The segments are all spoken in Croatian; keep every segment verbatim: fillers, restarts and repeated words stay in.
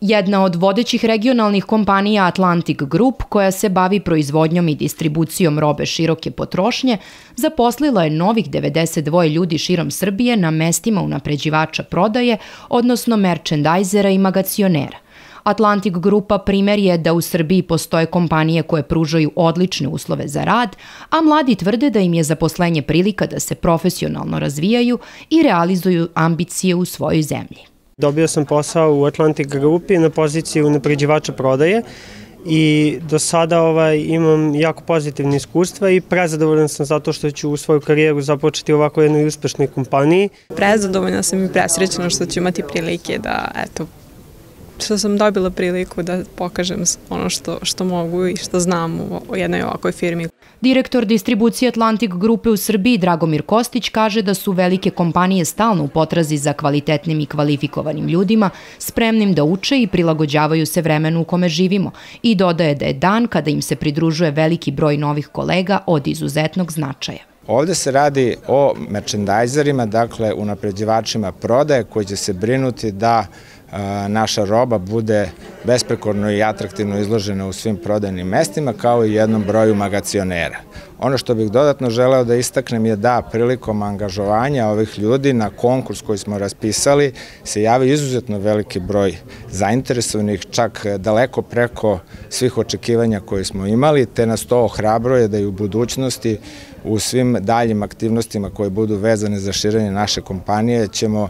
Jedna od vodećih regionalnih kompanija Atlantic Group, koja se bavi proizvodnjom i distribucijom robe široke potrošnje, zaposlila je novih devedeset dvoje ljudi širom Srbije na mestima unapređivača prodaje, odnosno merchandisera i magacionera. Atlantic Grupa primer je da u Srbiji postoje kompanije koje pružaju odlične uslove za rad, a mladi tvrde da im je zaposlenje prilika da se profesionalno razvijaju i realizuju ambicije u svojoj zemlji. Dobio sam posao u Atlantic Grupi na poziciji unapređivača prodaje i do sada ovaj, imam jako pozitivne iskustva i prezadovoljan sam zato što ću u svoju karijeru započeti u ovako jednoj uspešnoj kompaniji. Prezadovoljna sam i presrećena što ću imati prilike da, eto, što sam dobila priliku da pokažem ono što, što mogu i što znam u jednoj ovakvoj firmi. Direktor distribucije Atlantic Grupe u Srbiji Dragomir Kostić kaže da su velike kompanije stalno u potrazi za kvalitetnim i kvalifikovanim ljudima, spremnim da uče i prilagođavaju se vremenu u kome živimo, i dodaje da je dan kada im se pridružuje veliki broj novih kolega od izuzetnog značaja. Ovde se radi o merchandizerima, dakle unapređivačima prodaje koji će se brinuti da naša roba bude besprekorno i atraktivno izložena u svim prodajnim mestima, kao i jednom broju magacionera. Ono što bih dodatno želeo da istaknem je da prilikom angažovanja ovih ljudi na konkurs koji smo raspisali se javi izuzetno veliki broj zainteresovanih, čak daleko preko svih očekivanja koje smo imali, te nas to ohrabruje da i u budućnosti u svim daljim aktivnostima koje budu vezane za širenje naše kompanije ćemo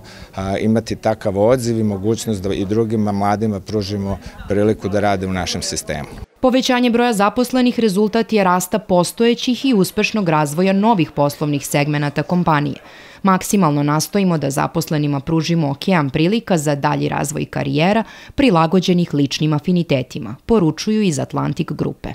imati takav odziv i mogućnost da i drugima mladima pružimo priliku da rade u našem sistemu. Povećanje broja zaposlenih rezultat je rasta postojećih i uspešnog razvoja novih poslovnih segmenata kompanije. Maksimalno nastojimo da zaposlenima pružimo okean prilika za dalji razvoj karijera prilagođenih ličnim afinitetima, poručuju iz Atlantic Grupe.